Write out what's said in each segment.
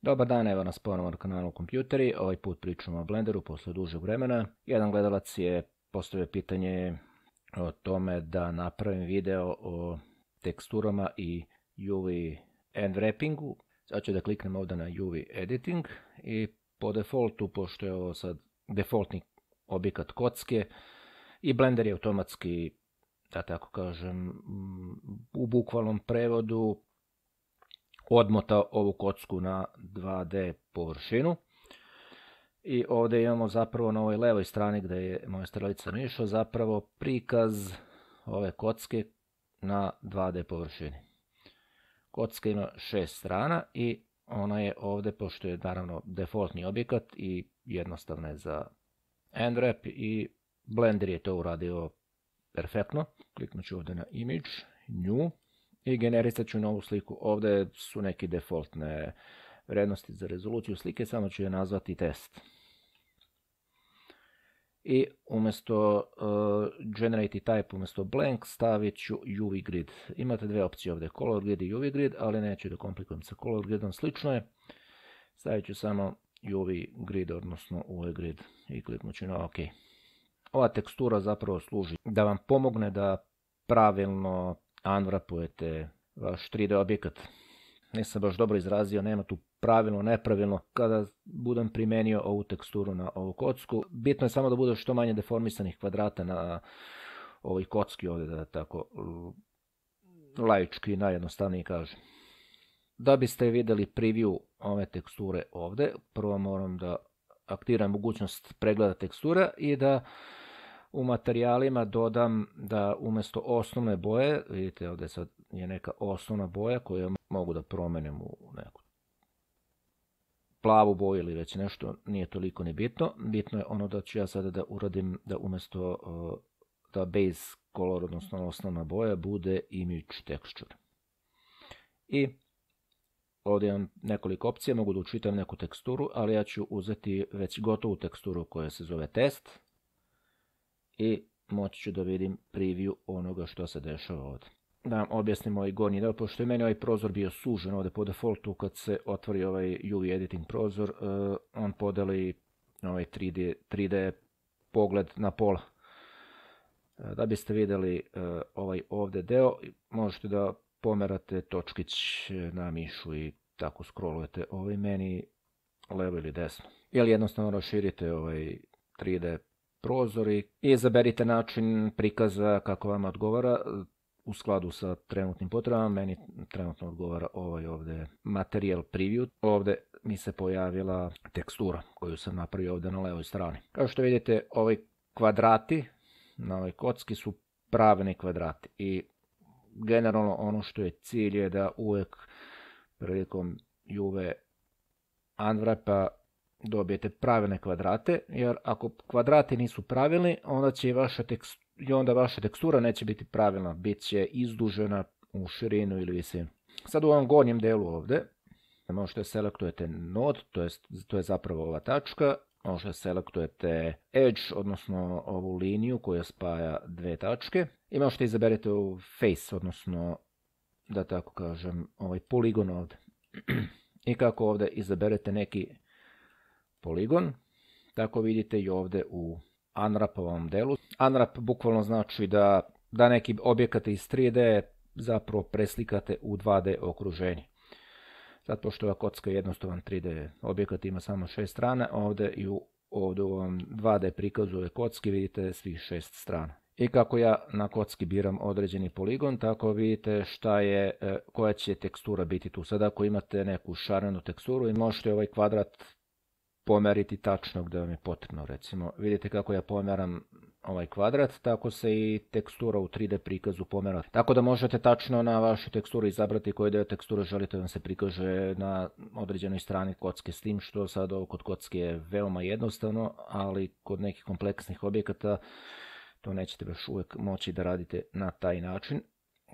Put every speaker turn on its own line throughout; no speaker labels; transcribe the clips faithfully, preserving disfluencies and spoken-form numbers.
Dobar dan, evo nas ponovno na kanalu Kompjuteri. Ovaj put pričamo o Blenderu posle dužeg vremena. Jedan gledalac je postavio pitanje o tome da napravim video o teksturama i U V end wrappingu. Sad ću da kliknem ovdje na U V editing i po defaultu, pošto je ovo sad defaultni objekat kocke i Blender je automatski, da tako kažem, u bukvalnom prevodu odmota ovu kocku na dva D površinu. I ovdje imamo zapravo na ovoj levoj strani gdje je moja strelica mišao zapravo prikaz ove kocke na dva D površini. Kocka ima šest strana i ona je ovdje, pošto je naravno defaultni objekat i jednostavna je za end wrap, i Blender je to uradio perfektno. Kliknut ću ovdje na image, new, i generisat ću novu sliku. Ovdje su neke defaultne vrednosti za rezoluciju slike, samo ću je nazvati test. I umjesto uh, generate type, umjesto blank, stavit ću U V grid. Imate dve opcije ovdje, color grid i U V grid, ali neću da komplikujem sa color gridom, slično je. Stavit ću samo U V grid, odnosno U V grid, i kliknut ću na OK. Ova tekstura zapravo služi da vam pomogne da pravilno unwrapujete vaš tri D objekat. Nisam baš dobro izrazio, nema tu pravilno, nepravilno. Kada budem primenio ovu teksturu na ovu kocku, bitno je samo da bude što manje deformisanih kvadrata na ovoj kocki ovdje, da tako laički najjednostavniji kažem. Da biste vidjeli preview ove teksture ovdje, prvo moram da aktiviram mogućnost pregleda tekstura i da u materijalima dodam da umjesto osnovne boje, vidite ovdje sad je neka osnovna boja koju mogu da promenim u neku plavu boju ili već nešto, nije toliko ni bitno. Bitno je ono da ću ja sada da uradim da umjesto da base color, odnosno osnovna boja, bude image texture. I ovdje imam nekoliko opcija, mogu da učitam neku teksturu, ali ja ću uzeti već gotovu teksturu koja se zove test i moći ću da vidim preview onoga što se dešava ovdje. Da vam objasnim ovaj gornji deo, pošto je meni ovaj prozor bio sužen ovdje po defaultu. Kad se otvori ovaj U V editing prozor, uh, on podeli ovaj tri D pogled na pola. Uh, da biste vidjeli uh, ovaj ovdje deo, možete da pomerate točkić na mišu i tako scrollujete ovaj meni levo ili desno. Ili jednostavno raširite ovaj tri D prozor i izaberite način prikaza kako vam odgovara u skladu sa trenutnim potrebama. Meni trenutno odgovara ovaj ovdje material preview. Ovdje mi se pojavila tekstura koju sam napravio ovdje na levoj strani. Kao što vidite, ovi kvadrati na ovoj kocki su pravilni kvadrati i generalno ono što je cilj je da uvijek prilikom U V unwrapa dobijete pravilne kvadrate, jer ako kvadrati nisu pravilni, onda će i vaša tekstura, i onda vaša tekstura neće biti pravilna, bit će izdužena u širinu ili visinu. Sad u ovom gornjem delu ovdje možete selektujete node, to je, to je zapravo ova tačka, možete selektujete edge, odnosno ovu liniju koja spaja dve tačke, i možete izaberete u face, odnosno da tako kažem ovaj poligon ovdje. I kako ovdje izaberete neki poligon, tako vidite i ovdje u unwrapovom delu. Unwrap bukvalno znači da, da neki objekat iz tri D zapravo preslikate u dva D okruženje. Sad, pošto ova kocka je jednostavan tri D objekat, ima samo šest strana, ovdje i u, ovdje u ovom dva D prikazu ove kocki vidite svih šest strana. I kako ja na kocki biram određeni poligon, tako vidite šta je, koja će tekstura biti tu. Sad ako imate neku šarenu teksturu i možete ovaj kvadrat pomeriti tačno gdje vam je potrebno. Recimo, vidite kako ja pomeram ovaj kvadrat, tako se i tekstura u tri D prikazu pomera. Tako da možete tačno na vašu teksturu izabrati koji deo teksture želite da vam se prikaže na određenoj strani kocke, s tim što sad ovo kod kocke je veoma jednostavno, ali kod nekih kompleksnih objekata to nećete baš uvijek moći da radite na taj način.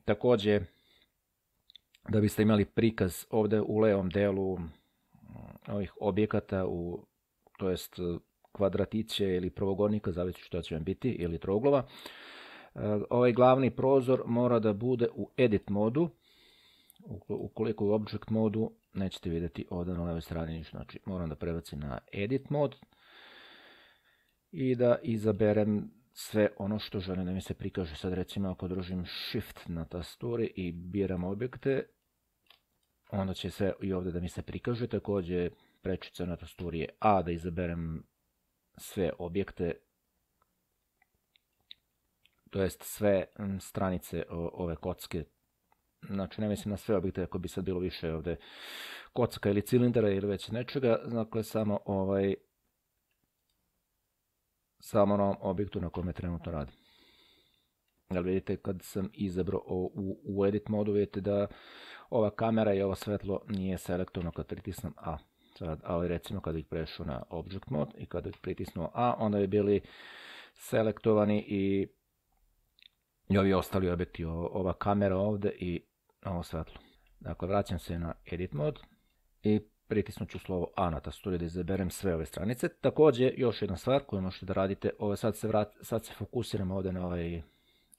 Također, da biste imali prikaz ovdje u levom delu ovih objekata, u, to jest kvadratiće ili prvogornika, zavisi što će vam biti, ili troglova, ovaj glavni prozor mora da bude u edit modu, Ukoliko u object modu nećete vidjeti ovdje na levoj strani ništa. Znači moram da prebacim na edit mod i da izaberem sve ono što želim da mi se prikaže. Sad recimo ako držim shift na tasturi i biram objekte, onda će sve i ovdje da mi se prikaže. Također prečica na tasturi je A da izaberem sve objekte, to jest sve stranice ove kocke. Znači ne mislim na sve objekte, ako bi sad bilo više ovdje kocka ili cilindara ili već nečega, dakle samo ovaj samo na ovom objektu na kojem trenutno radim. Jel vidite kad sam izabrao u, u edit modu, vidite da ova kamera i ovo svetlo nije selektovano kad pritisnem A. Sad, ali recimo kad bih prešao na object mod i kad bih pritisnuo A, onda bi bili selektovani i, i ovi ostali objekti, ova kamera ovdje i ovo svetlo. Dakle, vraćam se na edit mod i pritisnut ću slovo A na tasturi da izaberem sve ove stranice. Također, još jedna stvar koju možete da radite, ovo sad se, vrat, sad se fokusiramo ovdje na ovaj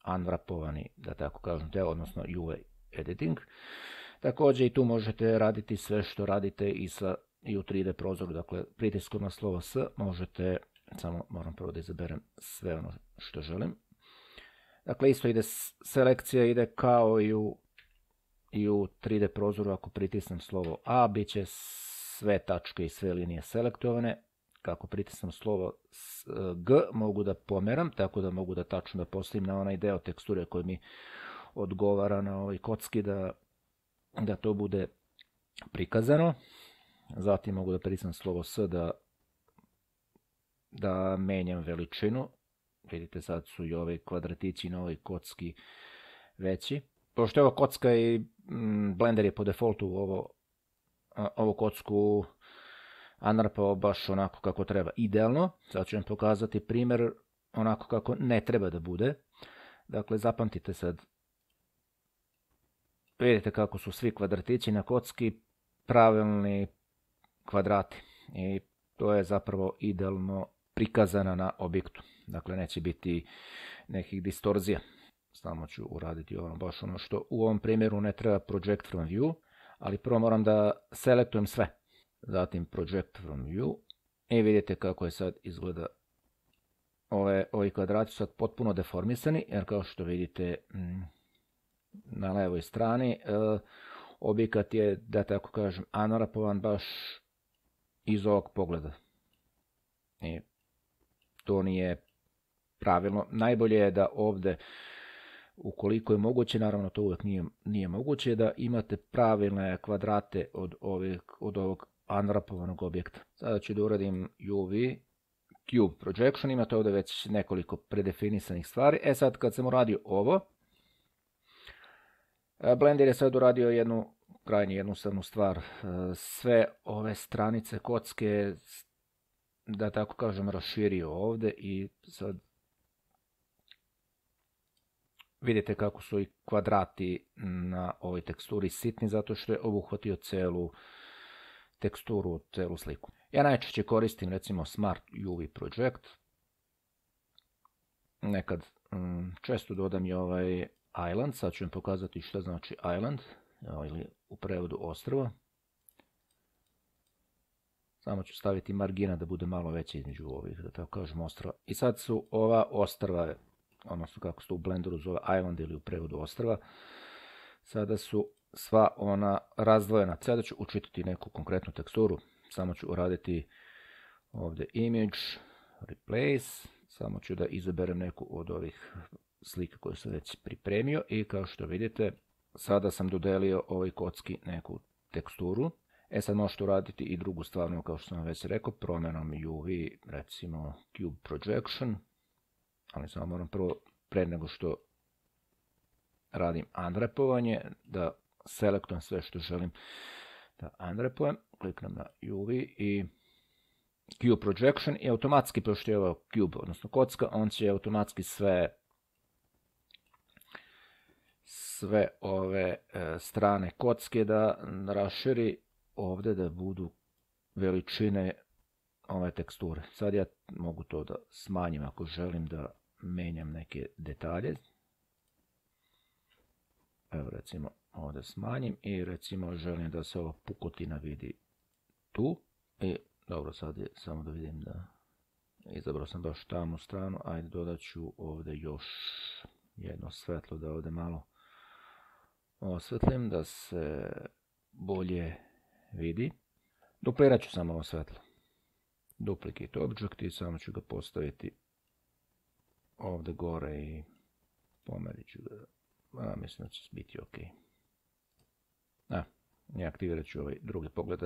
unwrapovani, da tako kažem, deo, odnosno U I editing. Također i tu možete raditi sve što radite i, sa, i u tri D prozoru, dakle pritiskom na slovo S možete, samo moram prvo da izaberem sve ono što želim. Dakle, isto ide selekcija, ide kao i u i u tri D prozoru. Ako pritisnem slovo A, bit će sve tačke i sve linije selektovane. Kako pritisnem slovo G, mogu da pomeram, tako da mogu da tačno da postavim na onaj deo teksture koji mi odgovara na ovoj kocki, da, da to bude prikazano. Zatim mogu da pritisnem slovo S da, da menjam veličinu. Vidite, sad su i ove kvadratići na ovoj kocki veći. Pošto je ova kocka i Blender je po defaultu ovo, ovu kocku unwrapao baš onako kako treba, idealno. Sad ću vam pokazati primjer onako kako ne treba da bude. Dakle, zapamtite sad. Vidite kako su svi kvadratići na kocki pravilni kvadrati. I to je zapravo idealno prikazana na objektu. Dakle, neće biti nekih distorzija. Samo ću uraditi ono, baš ono što u ovom primjeru ne treba project from view, ali prvo moram da selektujem sve. Zatim project from view i vidite kako je sad izgleda. Ove, ovi kvadrati su sad potpuno deformisani, jer kao što vidite na levoj strani e, objekat je, da tako kažem, unwrapovan baš iz ovog pogleda. I to nije pravilno. Najbolje je da ovdje, ukoliko je moguće, naravno to uvijek nije, nije moguće, da imate pravilne kvadrate od, ovih, od ovog unwrapovanog objekta. Sada ću da uradim U V Cube Projection, imate ovdje već nekoliko predefinisanih stvari. E sad kad sam uradio ovo, Blender je sad uradio jednu krajnje jednostavnu stvar. Sve ove stranice kocke, da tako kažem, raširio ovdje i sad vidite kako su i kvadrati na ovoj teksturi sitni, zato što je obuhvatio celu teksturu, celu sliku. Ja najčešće koristim recimo Smart U V Project. Nekad mm, često dodam i ovaj Island, sad ću vam pokazati što znači Island, ili u prevodu ostrvo. Samo ću staviti margina da bude malo veća između ovih, da tako kažem, ostrva. I sad su ova ostrva, odnosno kako se to u Blenderu zove Island ili u prevodu ostrva, sada su sva ona razdvojena. Sada ću učitati neku konkretnu teksturu, samo ću uraditi ovdje Image, Replace, samo ću da izaberem neku od ovih slika koje sam već pripremio i kao što vidite, sada sam dodelio ovoj kocki neku teksturu. E sad možete uraditi i drugu stvar, kao što sam već rekao, promjenom U V, recimo Cube Projection, ali samo moram prvo, pre nego što radim unwrapovanje, da selektujem sve što želim da unwrapujem, kliknem na U V i Cube Projection i automatski, pošto je ovo cube, odnosno kocka, on će automatski sve sve ove e, strane kocke da raširi ovdje, da budu veličine ove teksture. Sad ja mogu to da smanjim ako želim da menjam neke detalje. Evo recimo ovdje smanjim i recimo želim da se ova pukotina vidi tu. I dobro, sad je samo da vidim da izabrao sam baš tamnu stranu. Ajde, dodat ću ovdje još jedno svetlo da ovdje malo osvetlim da se bolje vidi. Duplirat ću samo ovo svetlo. Duplicate object i samo ću ga postaviti ovdje gore i pomerit ću ga. A, mislim da će biti ok. A, i aktivirat ću ovaj drugi pogled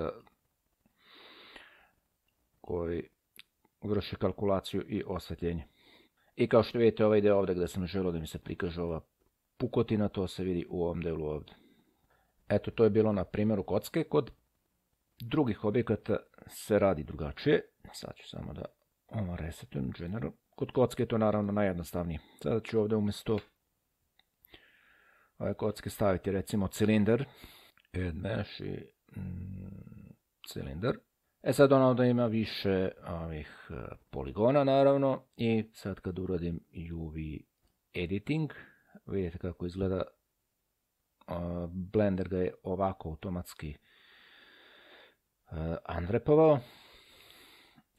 koji vrši kalkulaciju i osvetljenje. I kao što vidite, ovaj ide ovdje gdje sam želio da mi se prikaže ova pukotina, to se vidi u ovom delu ovdje. Eto, to je bilo na primjeru kocke. Kod drugih objekata se radi drugačije. Sad ću samo da ovo resetujem, general. Kod kocke je to naravno najjednostavnije. Sada ću ovdje umjesto ove kocke staviti recimo cilindar. Add mesh i mm, cilindar. E sad ono da ima više ovih poligona naravno. I sad kad uradim U V editing, vidite kako izgleda. Blender ga je ovako automatski unwrapovao.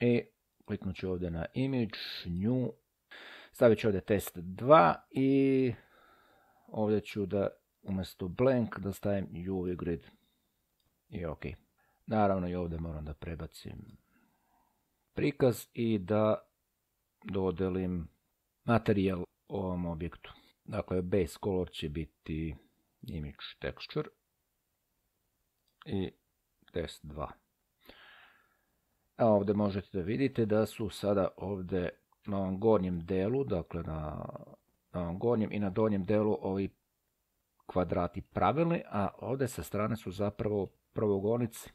I kliknut ću ovdje na image, new, stavit ću ovdje test dva i ovdje ću da umjesto blank da stavim U V grid. I ok. Naravno i ovdje moram da prebacim prikaz i da dodelim materijal ovom objektu. Dakle, base color će biti image texture i test dva. A ovdje možete da vidite da su sada ovdje na ovom gornjem delu, dakle na, na ovom gornjem i na donjem delu ovi kvadrati pravilni, a ovdje sa strane su zapravo pravogonici.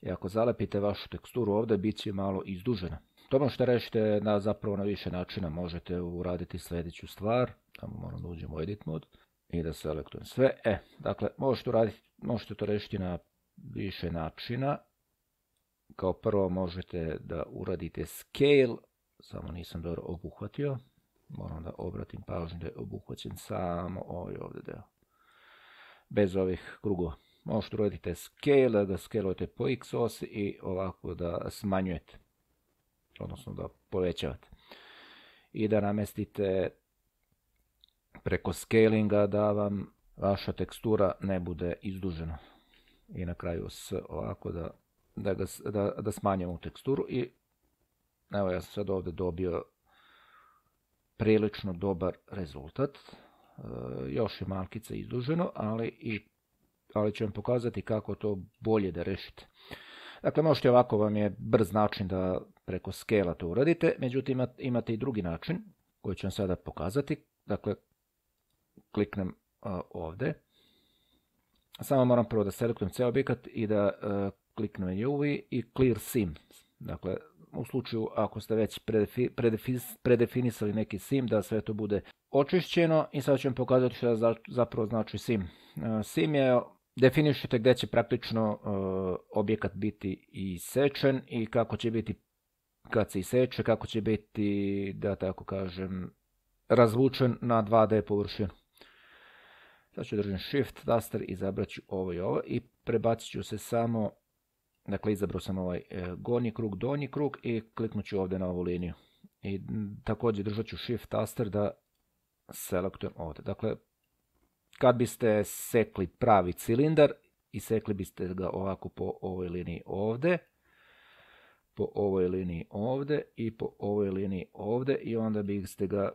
I ako zalepite vašu teksturu ovdje, bit će malo izdužena. To možete rešiti na, zapravo na više načina. Možete uraditi sljedeću stvar. Tamo moram da uđem u edit mod i da selektujem sve. E, dakle, možete, uraditi, možete to rešiti na više načina. Kao prvo možete da uradite scale. Samo nisam dobro obuhvatio. Moram da obratim pažnju da je obuhvaćen samo ovaj ovdje deo. Bez ovih krugova. Možete uraditi scale, da ga scalujete po x osi i ovako da smanjujete. Odnosno da povećavate. I da namestite preko scalinga da vam vaša tekstura ne bude izdužena. I na kraju s ovako da, da, ga, da, da smanjimo teksturu. I evo ja sam sad ovdje dobio prilično dobar rezultat. E, još je malkice izduženo, ali, i, ali ću vam pokazati kako to bolje da rešite. Dakle, možete ovako, vam je brz način da preko scale-a to uradite, međutim imate i drugi način koji ću vam sada pokazati. Dakle, kliknem uh, ovdje. Samo moram prvo da selektujem ceo objekat i da uh, kliknem U V i clear sim. Dakle, u slučaju ako ste već predefi, predefi, predefinisali neki sim, da sve to bude očišćeno. I sad ću vam pokazati što za, zapravo znači sim. Uh, sim je, definišete gdje će praktično uh, objekat biti isečen i kako će biti kad se iseče, kako će biti, da tako kažem, razvučen na dva D površinu. Sad ću držim Shift taster, izabrat ću ovo i ovo i prebacit ću se samo, dakle izabrao sam ovaj e, gornji krug, donji krug i kliknut ću ovdje na ovu liniju. I m, također držat ću Shift taster da selektujem ovdje. Dakle, kad biste sekli pravi cilindar i sekli biste ga ovako po ovoj liniji ovdje, po ovoj liniji ovdje i po ovoj liniji ovdje i onda biste ga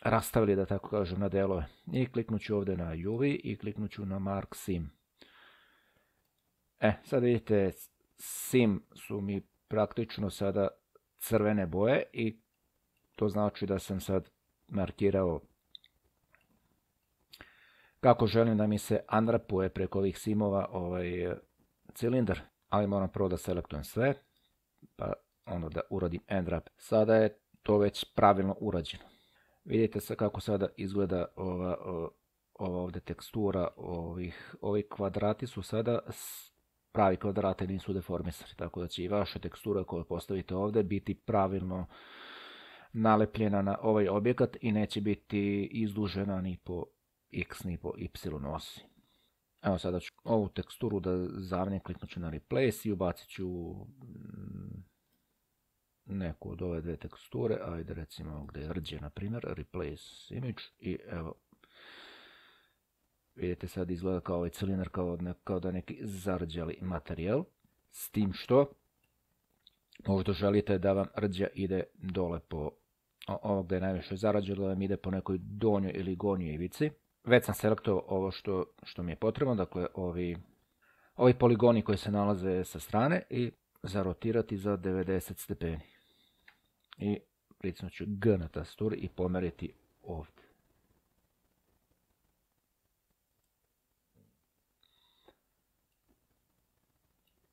rastavili, da tako kažem, na delove. I kliknut ću ovdje na U V i kliknut ću na Mark Sim. E, sad vidite, Sim su mi praktično sada crvene boje i to znači da sam sad markirao kako želim da mi se unwrapuje preko ovih simova ovaj cilindar. Ali moram prvo da selektujem sve, pa onda da uradim unwrap. Sada je to već pravilno urađeno. Vidite se kako sada izgleda ova, ova ovdje tekstura, ovih, ovi kvadrati su sada pravi kvadrati, nisu deformisani, tako da će i vaša tekstura koju postavite ovdje biti pravilno nalepljena na ovaj objekat i neće biti izdužena ni po x ni po y osi. Evo sada ću ovu teksturu da zamjenim, kliknut ću na replace i ubacit ću neku od ove dve teksture, ajde recimo gdje je rđe, na primjer, replace image, i evo, vidite sad izgleda kao ovaj cilinder, kao, ne, kao da neki zarđali materijal, s tim što možda želite da vam rđa ide dole po ovo gdje je najviše zarađeno, da vam ide po nekoj donjoj ili gornjoj ivici. Već sam selektovao ovo što, što mi je potrebno, dakle ovi, ovi poligoni koji se nalaze sa strane, i zarotirati za devedeset stepeni. I pritisnut ću G na tasturi i pomeriti ovdje.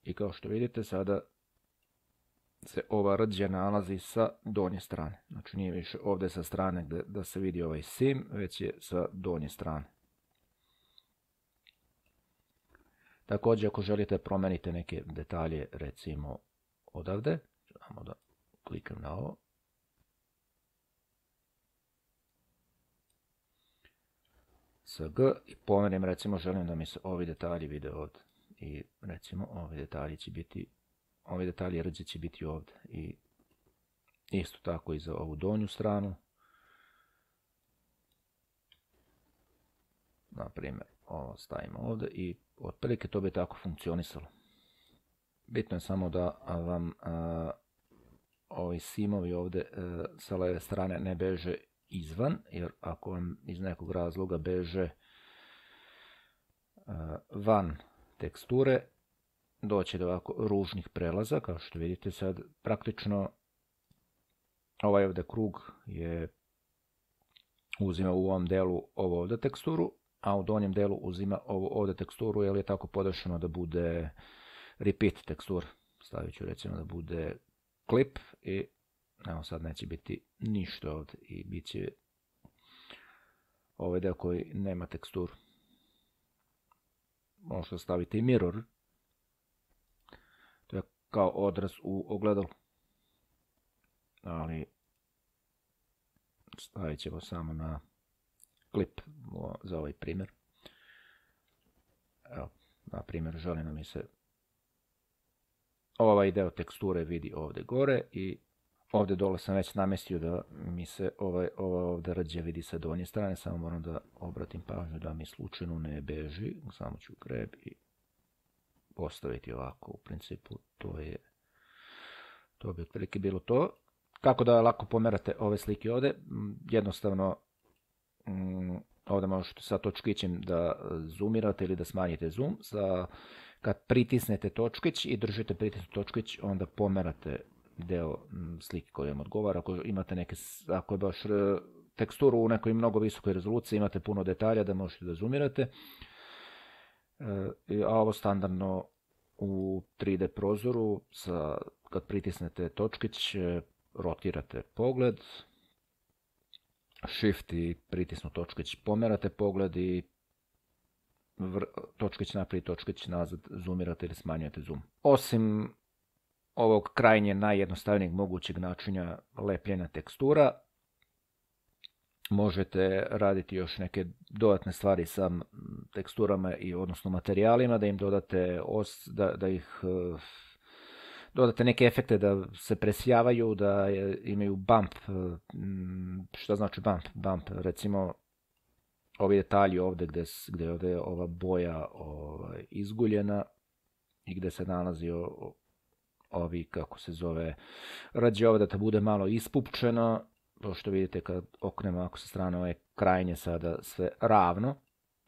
I kao što vidite sada se ova rđa nalazi sa donje strane. Znači nije više ovdje sa strane gdje da se vidi ovaj sim, već je sa donje strane. Također ako želite promijenite neke detalje, recimo odavde, samo da klikam na ovo. Sa G i pomerim, recimo želim da mi se ovi detalji vide ovdje. I recimo ovi detalji će biti, ovi detalji rđe će biti ovdje. I isto tako i za ovu donju stranu. Na primjer, ovo stavimo ovdje i otprilike to bi tako funkcionisalo. Bitno je samo da vam a, ovi simovi ovdje a, sa leve strane ne beže izvan, jer ako vam iz nekog razloga beže a, van teksture, doći do ovako ružnih prelaza, kao što vidite sad praktično ovaj ovdje krug je uzima u ovom delu ovo ovdje teksturu, a u donjem delu uzima ovo ovdje teksturu, jer je tako podešeno da bude repeat tekstura. Stavit ću recimo da bude clip i evo sad neće biti ništa ovdje i bit će ovaj deo koji nema teksturu. Možete staviti i mirror, to je kao odraz u ogledalu, ali stavit ćemo samo na klip za ovaj primjer. Evo, na primjer, želim da mi se ovaj deo teksture vidi ovdje gore i ovdje dole sam već namestio da mi se ovaj, ova ovdje rđe vidi sa donje strane, samo moram da obratim pažnju da mi slučajno ne beži, samo ću grab i postaviti ovako, u principu to je, to bi otprilike bilo to. Kako da lako pomerate ove slike ovdje? Jednostavno, mm, ovdje možete sa točkićem da zoomirate ili da smanjite zoom. Sa, kad pritisnete točkić i držite pritisnut točkić, onda pomerate deo slike koji vam odgovara. Ako imate neke, ako je baš teksturu u nekoj mnogo visokoj rezoluciji, imate puno detalja da možete da zoomirate. E, a ovo standardno u tri D prozoru, sa, kad pritisnete točkić, rotirate pogled, shift i pritisnut točkić pomerate pogled i vr, točkić naprijed, točkić nazad, zoomirate ili smanjujete zoom. Osim ovog krajnje najjednostavnijeg mogućeg načina lepljenja tekstura, možete raditi još neke dodatne stvari sa teksturama i odnosno materijalima, da im dodate os, da, da ih dodate neke efekte da se presjavaju, da imaju bump. Šta znači bump? Bump, recimo ovi detalji ovdje gdje, gdje je ovdje ova boja ovaj, izguljena i gdje se nalazi o, ovi, kako se zove, rđe ovdje da bude malo ispupčeno. To što vidite kad okrenemo ako sa strane ove krajnje sada sve ravno,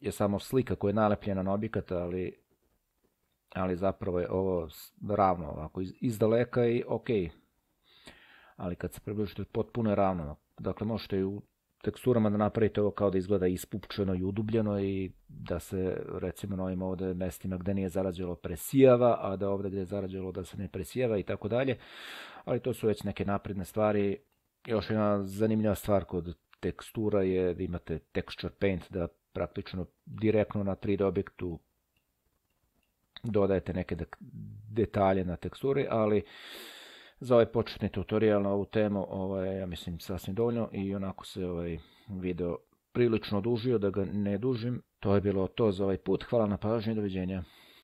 je samo slika koja je nalepljena na objekat, ali, ali zapravo je ovo ravno ovako iz, iz daleka i ok. Ali kad se približite potpuno je ravno. Dakle možete i u teksturama da napravite ovo kao da izgleda ispupčeno i udubljeno i da se recimo na ovim ovdje mestima gdje nije zarađelo presijava, a da ovdje gdje je zarađelo da se ne presijava i tako dalje. Ali to su već neke napredne stvari. Još jedna zanimljiva stvar kod tekstura je da imate texture paint, da praktično direktno na tri D objektu dodajete neke detalje na teksturi, ali za ovaj početni tutorial na ovu temu ovo je, ja mislim, sasvim dovoljno i onako se ovaj video prilično dužio, da ga ne dužim. To je bilo to za ovaj put. Hvala na pažnji, doviđenja.